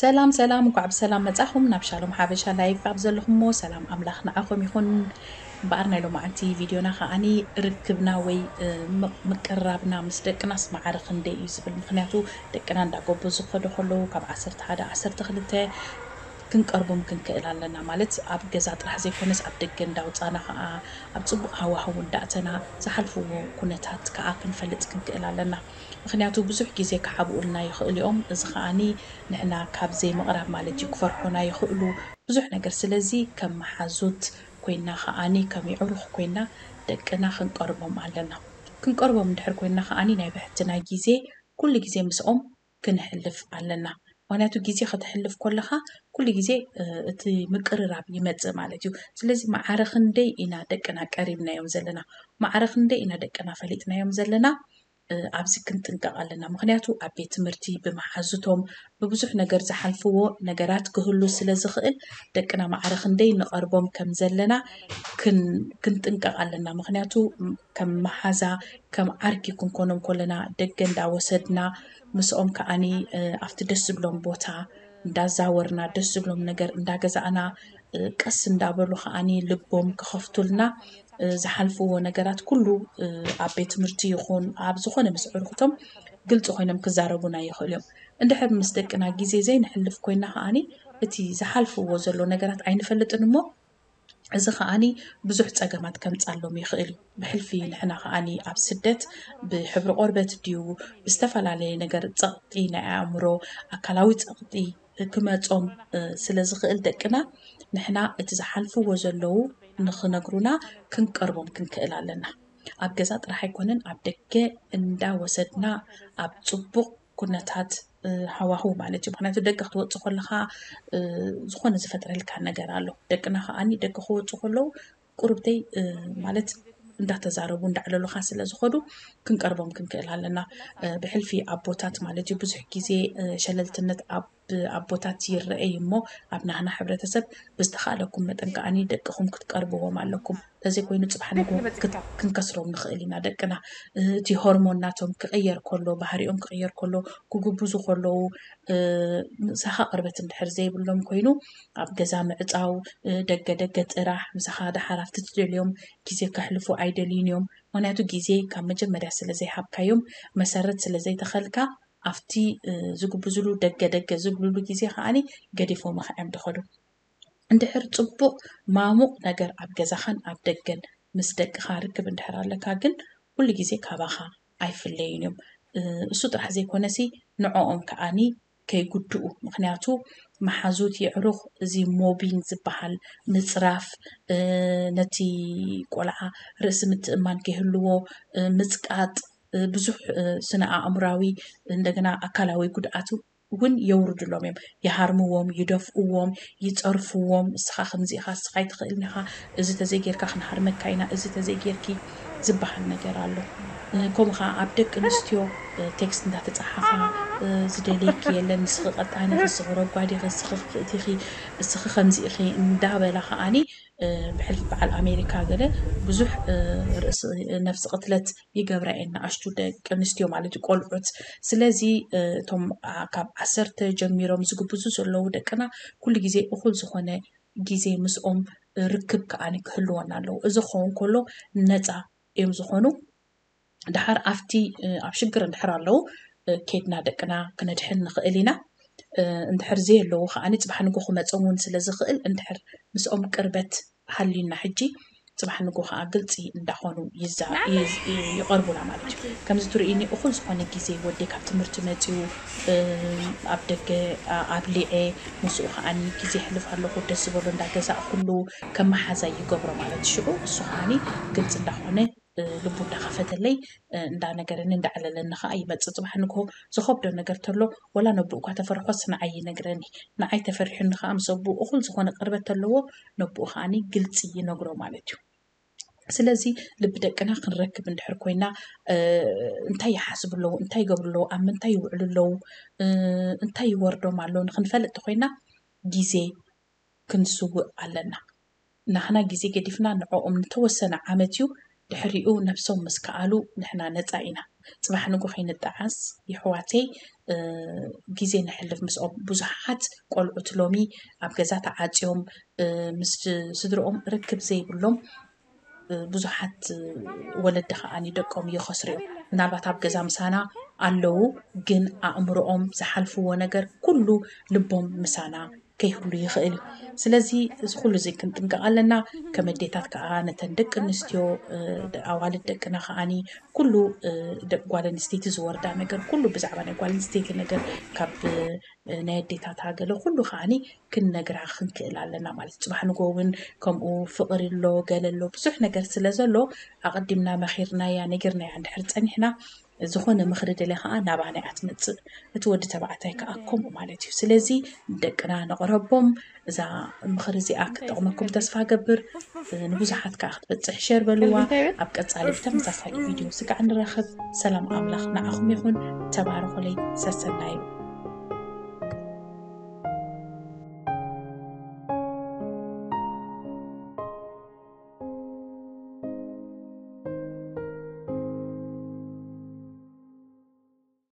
ሰላም ሰላም፣ እንኳዕ ብሰላም መጻኹም ናብ ሻሎም ሓበሻ ላይፍ። ኣብ ዘለኹሞ ሰላም ኣምላኽ ንዓኹም ይኹን። እምበኣር ናይ ሎማዓንቲ ቪድዮና ከዓኒ ርክብና ወይ፣ እ፣ ምቅ-፣ ምቅርራብና ምስ ደቅናስ ማዕረ ክንደይ እዩ ዝብል። ምኽንያቱ ደቅና እንዳጎበዙ ክኸዱ ከለዉ ካብ ዓሰርተ ሓደ፣ ዓሰርተ ክልተ ክንቀርቦም ክንክእል ኣለና። ማለት ኣብ ገዛ ጥራሕ ዘይኮነስ ኣብ ደገ እንዳውጻና ከኣ ኣብ ጽቡቕ ሃዋህው እንዳእተና ዝሓልፍዎ ኩነታት ከኣ ክንፈልጥ ክንክእል ኣለና። ምኽንያቱ ብዙሕ ግዜ ክሓብኡልና ይኽእሉ እዮም። እዚ ከኣኒ ንሕና ካብ ዘይምቕራብ ማለት እዩ፣ ክፈርሑና ይኽእሉ ብዙሕ ነገር። ስለዚ ከም መሓዙት ኮይና ከኣኒ ከም የዕሩኽ ኮይና ደቅና ክንቀርቦም ኣለና። ክንቀርቦም እንድሕር ኮይና ከኣኒ ናይ ብሕትና ግዜ ኩሉ ግዜ ምስኦም ክነሕልፍ ኣለና። ምኽንያቱ ግዜ ከተሕልፍ ከለኻ ኩሉ ግዜ፣ እ፣ እቲ ምቅርራብ ይመጽእ ማለት እዩ። ስለዚ ማዕረ ክንደይ ኢና ደቅና ቀሪብናዮም ዘለና፣ ማዕረ ክንደይ ኢና ደቅና ፈሊጥናዮም ዘለና፣ እ፣ ኣብዚ ክንጥንቀቕ ኣለና። ምኽንያቱ ኣብ ቤት ትምህርቲ ብመሓዙቶም ብብዙሕ ነገር ዝሓልፍዎ ነገራት ክህሉ ስለ ዝኽእል ደቅና ማዕረ ክንደይ ንቐርቦም ከም ዘለና ክን-፣ ክንጥንቀቕ ኣለና። ምኽንያቱ ከም መሓዛ፣ ከም ዓርኪ ክንኮኖም ከለና ደገ እንዳወሰድና ምስኦም ከኣኒ፣ እ፣ ኣብቲ ደስ ዝብሎም ቦታ እንዳዛወርና ደስ ዝብሎም ነገር እንዳገዛእና፣ እ፣ ቀስ እንዳበሉ ከኣኒ ልቦም ክኸፍቱልና፣ እ፣ ዝሓልፍዎ ነገራት ኩሉ፣ እ፣ ኣብ ቤት ትምህርቲ ይኹን ኣብ ዝኾነ ምስ ዕርክቶም ግልፂ ኮይኖም ክዛረቡና ይኽእሉ እዮም። እንድሕር ምስ ደቅና ግዜ ዘይንሕልፍ ኮይና ከኣኒ እቲ ዝሓልፍዎ ዘሎ ነገራት ኣይንፈልጥን እሞ እዚ ከኣኒ ብዙሕ ጸገማት ከምጻሎም ይኽእል እዩ። ብሕልፊ ንሕና ከኣኒ ኣብ ስደት ብሕብሪ ቆርበት ድዩ ብዝተፈላለየ ነገር ጸቕጢ ናይ ኣእምሮ፣ ኣካላዊ ጸቕጢ ክመጾም፣ እ፣ ስለ ዝኽእል ደቅና ንሕና እቲ ዝሓልፍዎ ዘለዉ ንኽነግሩና ክንቀርቦም ክንክእል ኣለና። ኣብ ገዛ ጥራሕ ኣይኮነን፣ ኣብ ደገ እንዳወሰድና ኣብ ጽቡቕ ኩነታት፣ እ፣ ሃዋህው ማለት እዩ። ምኽንያቱ ደገ ክትወጽእ ከለኻ፣ እ፣ ዝኾነ ዝፈጥረልካ ነገር ኣሎ። ደቅና ከኣኒ ደገ ክወጹ ከለዉ ቁርብተይ፣ እ፣ ማለት እንዳተዛረቡ እንዳዕለሉኻ ስለ ዝኸዱ ክንቀርቦም ክንክእል ኣለና። እ፣ ብሕልፊ ኣቦታት ማለት እዩ ብዙሕ ግዜ፣ እ፣ ሸለልትነት ኣብ ኣቦታት ይረኣይ እሞ ኣብ ናህና ሕብረተሰብ ብዝተኻእለኩም መጠን ከኣኒ ደቅኹም ክትቀርብዎም ኣለኩም። ተዘይኮይኑ ጽባሕ ንግሆ ክት-፣ ክንከስሮም ንኽእል ኢና ደቅና። እ፣ እቲ ሆርሞን ናቶም ክቕየር ከሎ፣ ባህሪኦም ክቕየር ከሎ፣ ክጉብዙ ከለዉ፣ እ፣ ምሳኻ ቅርበት እንድሕር ዘይብሎም ኮይኑ ኣብ ገዛ ምዕጻው፣ እ፣ ደገ ደገ ጥራሕ፣ ምሳኻ ደሓር ኣብቲ ትደልዮም ግዜ ከሕልፉ ኣይደልዩን እዮም። ምኽንያቱ ግዜ ካብ መጀመርያ ስለ ዘይሃብካዮም፣ መሰረት ስለ ዘይተኸልካ፣ ኣብቲ፣ እ፣ ዝጉብዝሉ ደገ ደገ ዝብልሉ ግዜ ከኣኒ ገዲፎምኻ እዮም ዝኸዱ። እንድሕር ጽቡቕ ማሙቕ ነገር ኣብ ገዛኻን ኣብ ደገን ምስ ደቅኻ ርክብ እንድሕር ኣለካ ግን ኩሉ ግዜ ካባኻ ኣይፍለዩን እዮም። እ፣ እሱ ጥራሕ ዘይኮነሲ ንዕኦም ከኣኒ ከይጉድኡ። ምኽንያቱ መሓዙት የዕሩኽ እዚ ሞቢንግ ዝበሃል ምጽራፍ፣ እ፣ ነቲ ቆልዓ ርእሲ ምትእማን ከይህልዎ፣ እ፣ ምጽቃጥ፣ እ፣ ብዙሕ፣ እ፣ ስነ ኣእምራዊ እንደገና ኣካላዊ ጉድኣት እውን የውርድሎም እዮም። ይሃርምዎም፣ ይደፍእዎም፣ ይጸርፍዎም። "እስኻ ከምዚ ኢኻ፣ እስኻ ኣይትኽእልን ኢኻ፣ እዚ ተዘይጌርካ ክንሃርመካ ኢና፣ እዚ ተዘይጌርኪ" ዝበሃል ነገር ኣሎ። እ፣ ከምኡ ኸዓ ኣብ ደቂ ኣንስትዮ፣ እ፣ ቴክስት እንዳተጻሓፋ፣ እ፣ "ዝደልየኪ የለን፣ ንስኺ ቀጣን ኢኺ፣ እስኺ ረጓድ ኢኺ፣ እስኺ ክፍእቲ ኢኺ፣ እስኺ ከምዚ ኢኺ" እንዳበላ ኸዓኒ፣ እ፣ ብሕልፊ በዓል ኣሜሪካ ገለ ብዙሕ፣ እ፣ ርእሲ፣ ነፍሲ ቅትለት ይገብራ እየን ንኣሽቱ ደቂ ኣንስትዮ ማለት እዩ፣ ቆልዑት። ስለዚ፣ እ፣ እቶም፣ ኣ፣ ካብ ዓሰርተ ጀሚሮም ዝግብዙ ዘለዉ ደቅና ኩሉ ግዜ እኹል ዝኾነ ግዜ ምስኦም ርክብ ከኣኒ ክህልወና ኣለዎ። እዚ ክኸውን ከሎ ነጻ እዮም ዝኾኑ። ደሓር ኣብቲ፣ እ፣ ኣብ ሽግር እንድሕር ኣለዉ፣ እ፣ ኬድና ደቅና ክነድሕን ንኽእል ኢና። እ፣ እንድሕር ዘየለዉ ከኣኒ ጽባሕ ንግሆ ክመጾም እውን ስለ ዝኽእል፣ እንድሕር ምስኦም ቅርበት ሃልዩና ሕጂ፣ ጽባሕ ንግሆ ከኣ ግልጺ እንዳኾኑ ይዛ-፣ ይዝ-፣ ይቐርቡና ማለት እዩ። ከምዚ ትርእይኒ እኹል ዝኾነ ግዜ ወደይ ካብ ትምህርቲ መጺኡ፣ እ፣ ኣብ ደገ፣ ኣ-፣ ኣብሊዐ፣ ምስኡ ከኣኒ ግዜ የሕልፍ ኣለኹ፣ ደስ ዝበሎ እንዳገዛእኩሉ ከም መሓዛይ ይገብሮ ማለት እዩ። ሽዑ እሱ ከኣኒ ግልጺ እንዳኾነ፣ እ፣ ልቡ እንዳኸፈተለይ፣ እ፣ እንዳነገረኒ እንዳዕለለኒ ከኣ ይመጽእ። ጽባሕ ንግሆ ዝኸብዶ ነገር ተሎ ወላ ነብኡ እኳ ተፈርሖስ ንዓይ ይነግረኒ። ንዓይ ተፈሪሑኒ ከኣ ምስ ኣቦኡ እኹል ዝኾነ ቅርበት ተለዎ ነብኡ ከኣኒ ግልጺ ይነግሮ ማለት እዩ። ስለዚ ልቢ ደቅና ክንረክብ እንድሕር ኮይና፣ እ፣ እንታይ ይሓስቡ ኣለዉ፣ እንታይ ይገብሩ ኣለዉ፣ ኣብ ምንታይ ይውዕሉ ኣለዉ፣ እ፣ እንታይ ይወርዶም ኣሎ ንኽንፈልጥ ተኾይና ግዜ ክንስውእ ኣለና። ናህና ግዜ ገዲፍና ንዕኦም ንተወሰነ ዓመት እዩ ድሕሪኡ ነብሶም ምስ ከኣሉ ንሕና ነፃ ኢና። ፅባሕ ንጎ ከይንጠዓስ የሕዋተይ ግዜ ነሕልፍ ምስኦም። ብዙሓት ቆልዑት ሎሚ ኣብ ገዛ ተዓፅዮም ምስ ስድርኦም ርክብ ዘይብሎም ብዙሓት ወለዲ ከዓኒ ደቆም ይኸስሩ እዮም። ምናልባት ኣብ ገዛ ምሳና ኣለዉ፣ ግን ኣእምሮኦም ዝሓልፍዎ ነገር ኩሉ ልቦም ምሳና ከይህሉ ይኽእል እዩ። ስለዚ እዚ ኩሉ እዚ ክንጥንቀቕ ኣለና። ከም ኣዴታት ከዓ ነተን ደቂ ኣንስትዮ ኣዋልድ ደቅና ከዓኒ ኩሉ ደቂ ጓል ኣንስተይቲ ዝወርዳ ነገር ኩሉ ብዛዕባ ናይ ጓል ኣንስተይቲ ነገር ካብ ናይ ኣዴታታ ገለ ኩሉ ከዓኒ ክንነግራ ክንክእል ኣለና ማለት እዩ። ፅባሕ ንጎ እውን ከምኡ ፍቕሪ ኣሎ ገለ ኣሎ ብዙሕ ነገር ስለ ዘሎ ኣቐዲምና መኺርናያ ነጊርናያ እንድሕር ፀኒሕና ዝኾነ ምኽሪ ደልያ ከዓ ናባና እያ ትመፅእ። እቲ ወዲ ተባዕታይ ከዓ ከምኡ ማለት እዩ። ስለዚ ደቅና ነቕረቦም። እዛ ምኽሪ እዚኣ ክትጠቕመኩም ተስፋ ገብር። ንብዙሓት ከዓ ክትበፅሕ ሸር በልዋ። ኣብ ቀፃሊ ብተመሳሳሊ ቪድዮ ስጋዕ ንራኸብ። ሰላም ኣምላኽ ንዓኹም ይኹን። ተባረኹለይ። ሰሰናዩ።